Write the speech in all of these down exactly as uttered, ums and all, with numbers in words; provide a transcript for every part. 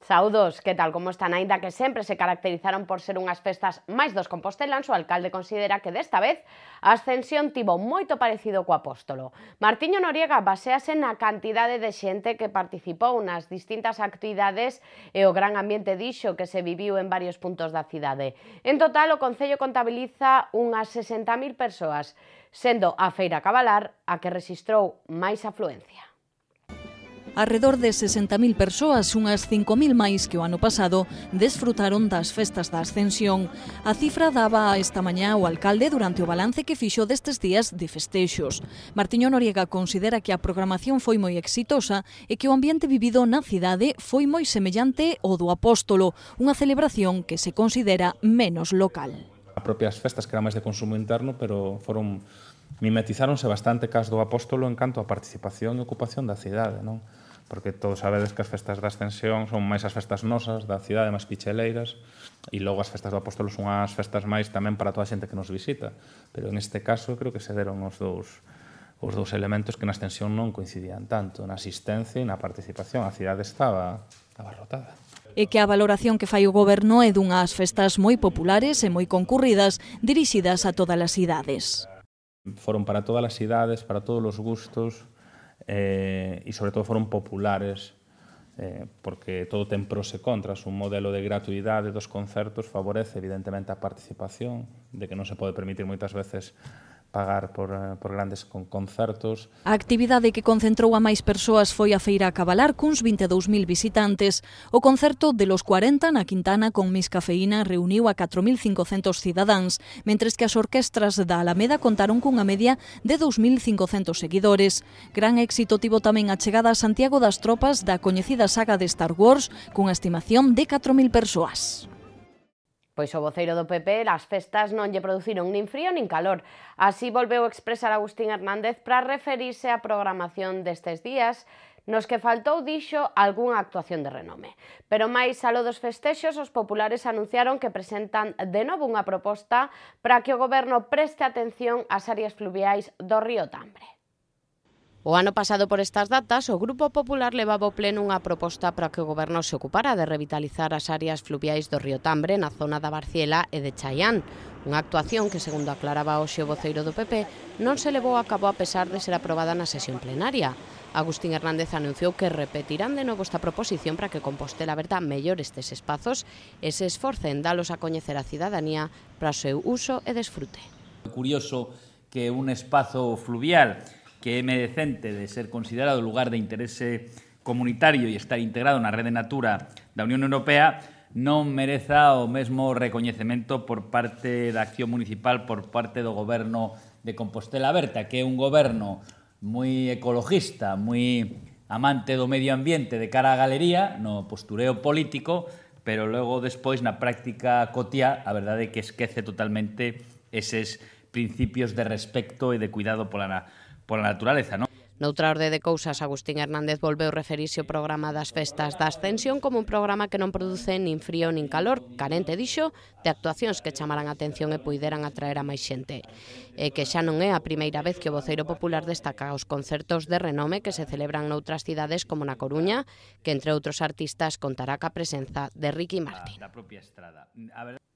Saúdos, que tal como están? Aínda que sempre se caracterizaron por ser unhas festas máis dos compostelans, o alcalde considera que desta vez a ascensión tivo moito parecido co Apóstolo. Martiño Noriega basease na cantidade de xente que participou nas distintas actividades e o gran ambiente dixo que se viviu en varios puntos da cidade. En total, o Concello contabiliza unhas sesenta mil persoas, sendo a Feira Cabalar a que rexistrou máis afluencia. Arredor de sesenta mil persoas, unhas cinco mil máis que o ano pasado, desfrutaron das festas da Ascensión. A cifra daba esta mañá o alcalde durante o balance que fixo destes días de festexos. Martiño Noriega considera que a programación foi moi exitosa e que o ambiente vivido na cidade foi moi semellante ao do Apóstolo, unha celebración que se considera menos local. As propias festas que eran máis de consumo interno, pero foron mimetizáronse bastante cas do Apóstolo en canto a participación e ocupación da cidade, non? Porque todos sabedes que as festas da Ascensión son máis as festas nosas, da cidade, máis picheleiras, e logo as festas do Apóstolo son as festas máis tamén para toda a xente que nos visita. Pero en este caso creo que se deron os dous, os dous elementos que na Ascensión non coincidían tanto, na asistencia e na participación. A cidade estaba abarrotada. E que a valoración que fai o goberno é dunhas festas moi populares e moi concurridas, dirixidas a todas as idades. Foron para todas as idades, para todos os gustos, eh, e sobre todo foron populares, eh, porque todo ten pros e contras. Un modelo de gratuidade dos concertos favorece evidentemente a participación, de que non se pode permitir moitas veces pagar por, por grandes con concertos. A actividade que concentrou a máis persoas foi a Feira Cabalar, cuns vinte e dous mil visitantes. O concerto de los cuarenta na Quintana con Miss Cafeína reuniu a catro mil cincocentos cidadáns, mentres que as orquestras da Alameda contaron cunha media de dous mil cincocentos seguidores. Gran éxito tivo tamén a chegada a Santiago das tropas da coñecida saga de Star Wars, cunha estimación de catro mil persoas. Pois o voceiro do P P, as festas non lle produciron nin frío nin calor. Así volveu expresar Agustín Hernández para referirse á programación destes días, nos que faltou, dixo, algunha actuación de renome. Pero máis aló dos festexos, os populares anunciaron que presentan de novo unha proposta para que o goberno preste atención ás áreas fluviais do río Tambre. O ano pasado por estas datas, o Grupo Popular levaba ao pleno unha proposta para que o goberno se ocupara de revitalizar as áreas fluviais do río Tambre na zona da Barciela e de Chaián. Unha actuación que, segundo aclaraba hoxe o voceiro do P P, non se levou a cabo a pesar de ser aprobada na sesión plenaria. Agustín Hernández anunciou que repetirán de novo esta proposición para que Compostela Aberta mellore estes espazos e se esforce en dalos a coñecer a cidadanía para o seu uso e desfrute. Curioso que un espazo fluvial que é merecente de ser considerado lugar de interese comunitario e estar integrado na rede Natura da Unión Europea non mereza o mesmo recoñecemento por parte da acción municipal, por parte do goberno de Compostela Aberta, que é un goberno moi ecologista, moi amante do medio ambiente de cara á galería, no postureo político, pero logo despois na práctica cotiá, a verdade é que esquece totalmente eses principios de respecto e de cuidado pola pola naturaleza, non? Noutra orde de cousas, Agustín Hernández volveu referirse ao programa das festas da Ascensión como un programa que non produce nin frío nin calor, carente, dixo, de actuacións que chamaran a atención e puideran atraer a máis xente. E que xa non é a primeira vez que o voceiro popular destaca os concertos de renome que se celebran noutras cidades como na Coruña, que entre outros artistas contará ca presenza de Ricky Martin.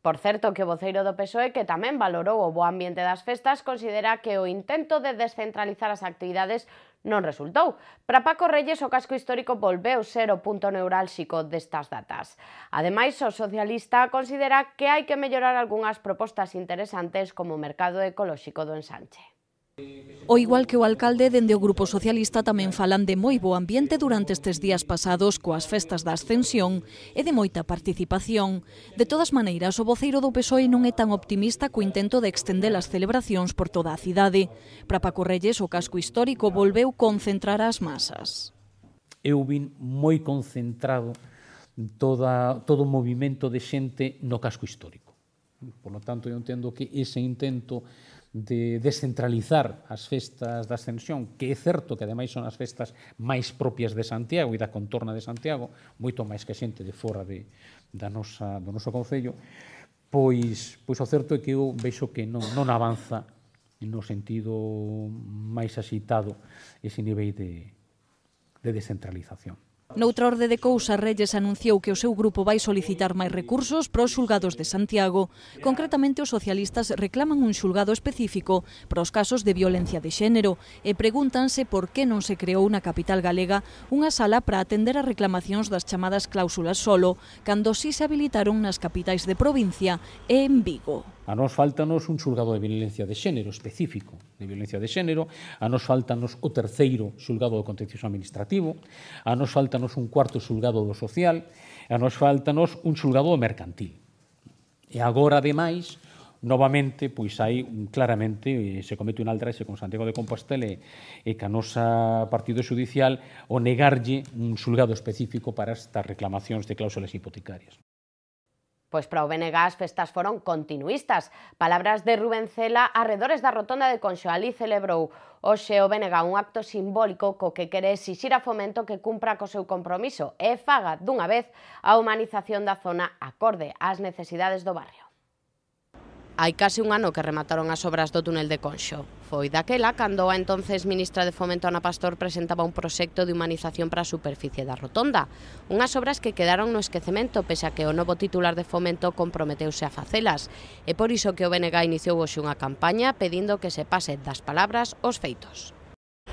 Por certo, que o voceiro do P S O E, que tamén valorou o bo ambiente das festas, considera que o intento de descentralizar as actividades non resultou. Para Paco Reyes, o casco histórico volveu ser o punto neurálxico destas datas. Ademais, o socialista considera que hai que mellorar algunhas propostas interesantes como o mercado ecolóxico do Ensanche. O igual que o alcalde, dende o Grupo Socialista tamén falan de moi bo ambiente durante estes días pasados coas festas da Ascensión e de moita participación. De todas maneiras, o voceiro do P S O E non é tan optimista co intento de extender as celebracións por toda a cidade. Para Paco Reyes, o casco histórico volveu concentrar as masas. Eu vin moi concentrado toda, todo o movimento de xente no casco histórico. Por lo tanto, eu entendo que ese intento de descentralizar as festas da Ascensión, que é certo que ademais son as festas máis propias de Santiago e da contorna de Santiago, moito máis que xente de fora de, da nosa, do noso concello, pois, pois o certo é que eu vexo que non, non avanza no sentido máis axitado ese nivel de, de descentralización. Noutra orde de cousas, Reyes anunciou que o seu grupo vai solicitar máis recursos para os xulgados de Santiago. Concretamente, os socialistas reclaman un xulgado específico para os casos de violencia de xénero e pregúntanse por que non se creou na capital galega unha sala para atender as reclamacións das chamadas cláusulas solo, cando si se habilitaron nas capitais de provincia e en Vigo. A nos faltanos un xulgado de violencia de xénero específico de violencia de xénero, a nos faltanos o terceiro xulgado do contencioso administrativo, a nos faltanos un cuarto xulgado do social, a nos faltanos un xulgado do mercantil. E agora, ademais, novamente, pois hai claramente, se comete un altraxe con Santiago de Compostela e ca nosa partido xudicial o negarlle un xulgado específico para estas reclamacións de cláusulas hipotecarias. Pois para o B N G as festas foron continuistas. Palabras de Rubén Cela arredores da rotonda de Conxo. Ali celebrou hoxe o B N G un acto simbólico co que quere exixir a Fomento que cumpra co seu compromiso e faga dunha vez a humanización da zona acorde ás necesidades do barrio. Hai case un ano que remataron as obras do túnel de Conxo. Foi daquela cando a entonces ministra de Fomento Ana Pastor presentaba un proxecto de humanización para a superficie da rotonda. Unhas obras que quedaron no esquecemento pese a que o novo titular de Fomento comprometeuse a facelas. E por iso que o B N G iniciou hoxe unha campaña pedindo que se pase das palabras aos feitos.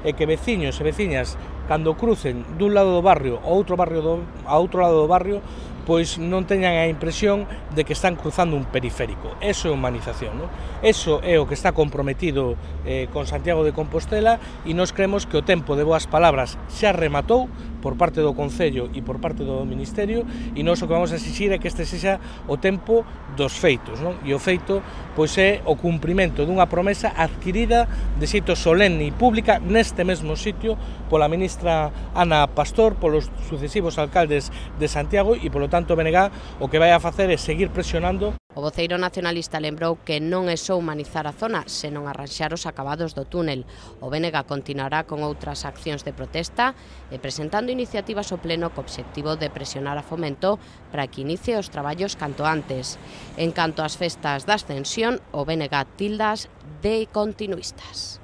E que veciños e veciñas, cando crucen dun lado do barrio a outro barrio do, a outro lado do barrio, pois non teñan a impresión de que están cruzando un periférico. Eso é humanización, non? Eso é o que está comprometido eh, con Santiago de Compostela e nós creemos que o tempo de boas palabras xa rematou por parte do Concello e por parte do Ministerio e nós o que vamos a exixir é que este sexa o tempo dos feitos, non? E o feito pois é o cumprimento dunha promesa adquirida de xeito solenne e pública neste mesmo sitio pola ministra Ana Pastor, polos sucesivos alcaldes de Santiago e polo tanto o B N G o que vai a facer é seguir presionando. O voceiro nacionalista lembrou que non é só humanizar a zona, senón arranxar os acabados do túnel. O B N G continuará con outras accións de protesta e presentando iniciativas ao pleno co obxectivo de presionar a Fomento para que inicie os traballos canto antes. En canto ás festas da Ascensión, o B N G tildas de continuistas.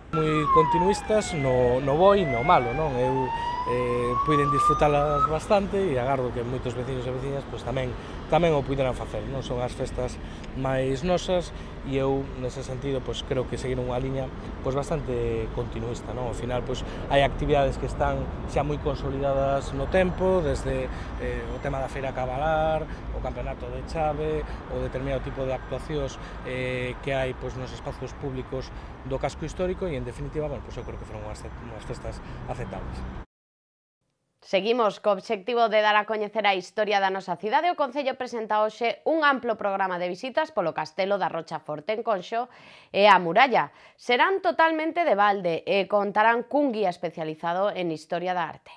Moi continuistas no, no bo e no malo, non? Eu eh, puiden disfrutalas bastante e agardo que moitos veciños e veciñas pois, tamén, tamén o puderan facer, non? Son as festas máis nosas e eu, nese sentido, pois, creo que seguir unha liña pois, bastante continuista, non? Ao final, pois, hai actividades que están xa moi consolidadas no tempo, desde eh, o tema da feira cabalar, o campeonato de chave, o determinado tipo de actuacións eh, que hai pois, nos espazos públicos do casco histórico e, en definitiva, bueno, pois, eu creo que foron unhas, unhas festas aceptables. Seguimos co obxectivo de dar a coñecer a historia da nosa cidade. O Concello presenta hoxe un amplo programa de visitas polo Castelo da Rocha Forte en Conxo e a Muralla. Serán totalmente de balde e contarán cun guía especializado en historia da arte.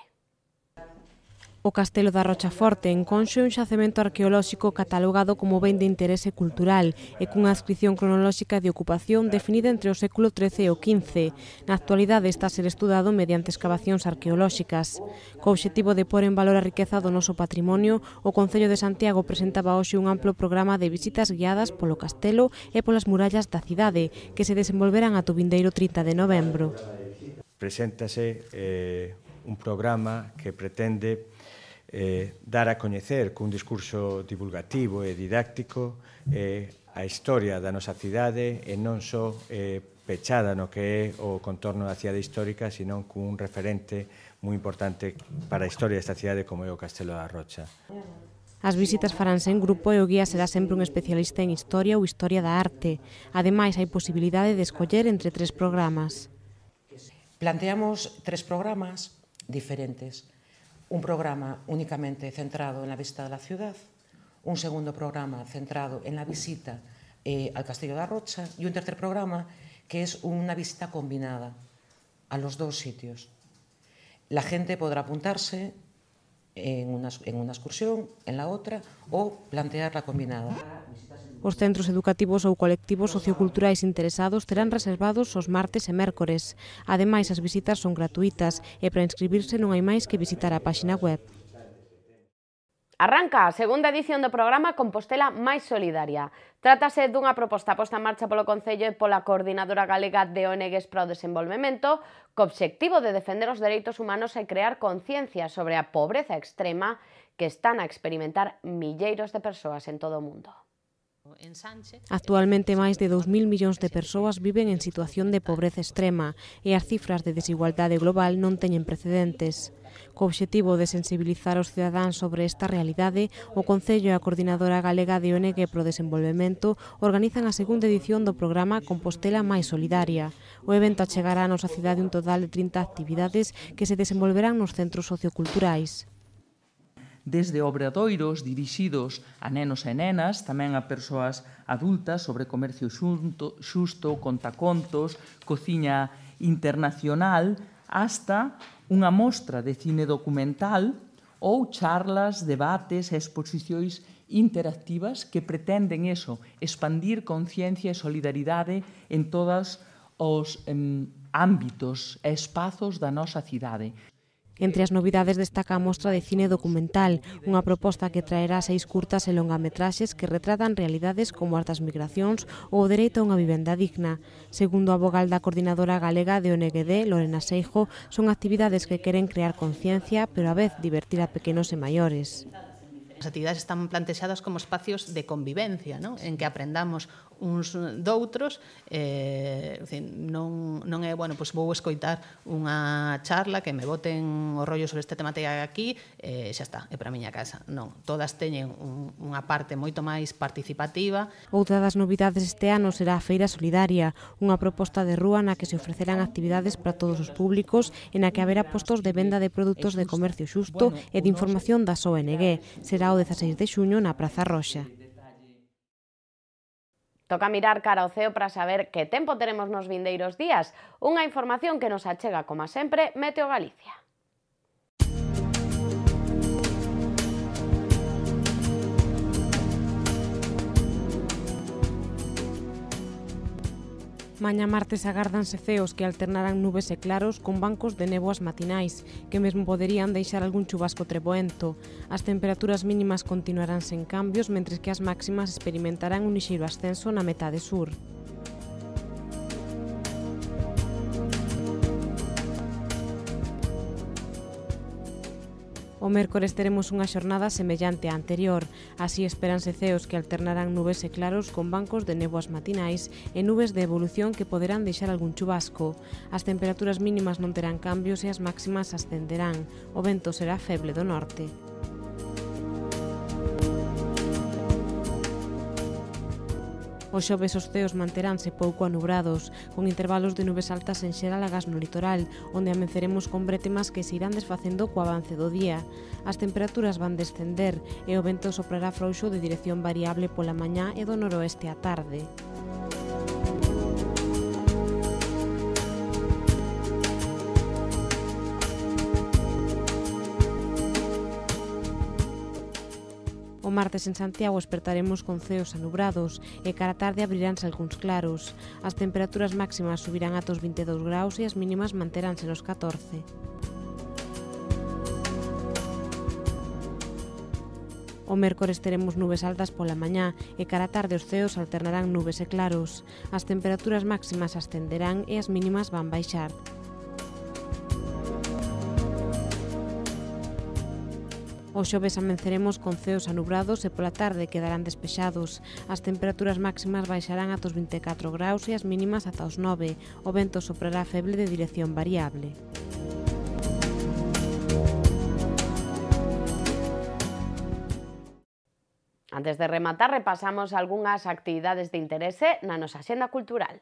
O Castelo da Rocha Forte en Conxo é un xacemento arqueolóxico catalogado como ben de interese cultural e cunha adscripción cronolóxica de ocupación definida entre o século trece e o quince. Na actualidade está a ser estudado mediante excavacións arqueolóxicas. Co obxectivo de pôr en valor a riqueza do noso patrimonio, o Concello de Santiago presentaba hoxe un amplo programa de visitas guiadas polo castelo e polas murallas da cidade, que se desenvolverán ata o vindeiro trinta de novembro. Preséntase eh, un programa que pretende Eh, dar a coñecer cun discurso divulgativo e didáctico eh, a historia da nosa cidade e non só eh, pechada no que é o contorno da cidade histórica, sino cun referente moi importante para a historia desta cidade como é o Castelo da Rocha. As visitas faránse en grupo e o guía será sempre un especialista en historia ou historia da arte. Ademais, hai posibilidade de escoller entre tres programas. Planteamos tres programas diferentes. Un programa únicamente centrado en la visita de la ciudad, un segundo programa centrado en la visita eh, al Castillo da Rocha y un tercer programa que es una visita combinada a los dos sitios. La gente podrá apuntarse en una, en una excursión, en la otra, o plantear la combinada. Os centros educativos ou colectivos socioculturais interesados terán reservados os martes e mércores. Ademais, as visitas son gratuitas e para inscribirse non hai máis que visitar a páxina web. Arranca a segunda edición do programa Compostela máis solidaria. Trátase dunha proposta posta en marcha polo Concello e pola Coordinadora Galega de O N Gs para o Desenvolvemento co obxectivo de defender os dereitos humanos e crear conciencia sobre a pobreza extrema que están a experimentar milleiros de persoas en todo o mundo. Actualmente máis de dous mil millóns de persoas viven en situación de pobreza extrema e as cifras de desigualdade global non teñen precedentes. Co obxectivo de sensibilizar os cidadáns sobre esta realidade, o Concello e a Coordinadora Galega de O N G pro Desenvolvemento organizan a segunda edición do programa Compostela máis solidaria. O evento achegará a nosa cidade un total de trinta actividades que se desenvolverán nos centros socioculturais. Desde obradoiros dirixidos a nenos e nenas, tamén a persoas adultas sobre comercio xunto, xusto, contacontos, cociña internacional, hasta unha mostra de cine documental ou charlas, debates e exposicións interactivas que pretenden eso, expandir conciencia e solidaridade en todos os em, ámbitos e espazos da nosa cidade. Entre as novidades destaca a mostra de cine documental, unha proposta que traerá seis curtas e longametraxes que retratan realidades como as das migracións ou o dereito a unha vivenda digna. Segundo a vogal da Coordinadora Galega de O N G D, Lorena Seijo, son actividades que queren crear conciencia, pero a vez divertir a pequenos e maiores. As actividades están plantexadas como espacios de convivencia, ¿no? En que aprendamos uns doutros, eh, non, non é, bueno, pois vou escoitar unha charla que me boten o rollo sobre esta temática aquí, e eh, xa está, é para a miña casa. Non, todas teñen un, unha parte moito máis participativa. Outra das novidades este ano será a Feira Solidaria, unha proposta de rúa na que se ofrecerán actividades para todos os públicos e na que haberá postos de venda de produtos de comercio xusto e de información das O N G. Será o dezaseis de xuño na Praza Roxa. Toca mirar cara ao ceo para saber que tempo teremos nos vindeiros días. Unha información que nos achega, como sempre, Meteo Galicia. Mañá martes agárdanse ceos que alternarán nubes e claros con bancos de néboas matinais, que mesmo poderían deixar algún chubasco treboento. As temperaturas mínimas continuarán sen cambios, mentres que as máximas experimentarán un lixeiro ascenso na metade sur. O mércores teremos unha xornada semellante á anterior. Así esperanse ceos que alternarán nubes e claros con bancos de néboas matinais e nubes de evolución que poderán deixar algún chubasco. As temperaturas mínimas non terán cambios e as máximas ascenderán. O vento será feble do norte. Os xoves os ceos manteránse pouco anubrados, con intervalos de nubes altas en xeral agás no litoral, onde amenceremos con brétemas que se irán desfacendo co avance do día. As temperaturas van descender e o vento soprará frouxo de dirección variable pola mañá e do noroeste á tarde. O martes en Santiago espertaremos con ceos anubrados e cara a tarde abriránse algúns claros. As temperaturas máximas subirán ata os vinte e dous graus e as mínimas manteránse nos catorce. O mércores teremos nubes altas pola mañá e cara a tarde os ceos alternarán nubes e claros. As temperaturas máximas ascenderán e as mínimas van baixar. O xoves amenceremos con ceos anubrados e pola tarde quedarán despexados. As temperaturas máximas baixarán ata os vinte e catro graus e as mínimas ata os nove. O vento soprará feble de dirección variable. Antes de rematar, repasamos algunhas actividades de interese na nosa axenda cultural.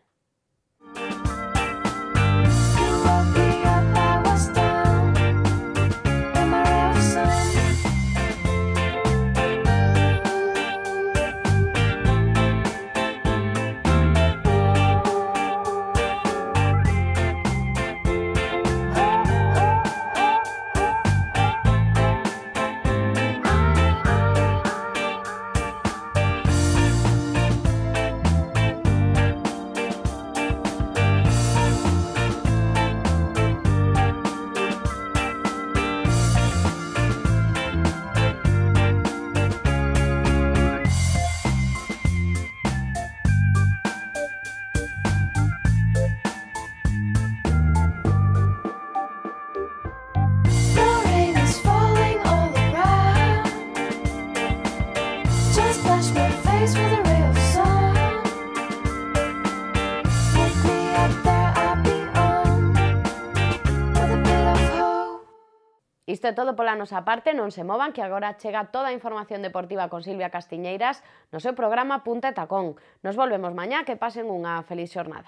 Isto é todo pola nosa parte, non se movan que agora chega toda a información deportiva con Silvia Castiñeiras no seu programa Punta e Tacón. Nos volvemos mañá, que pasen unha feliz xornada.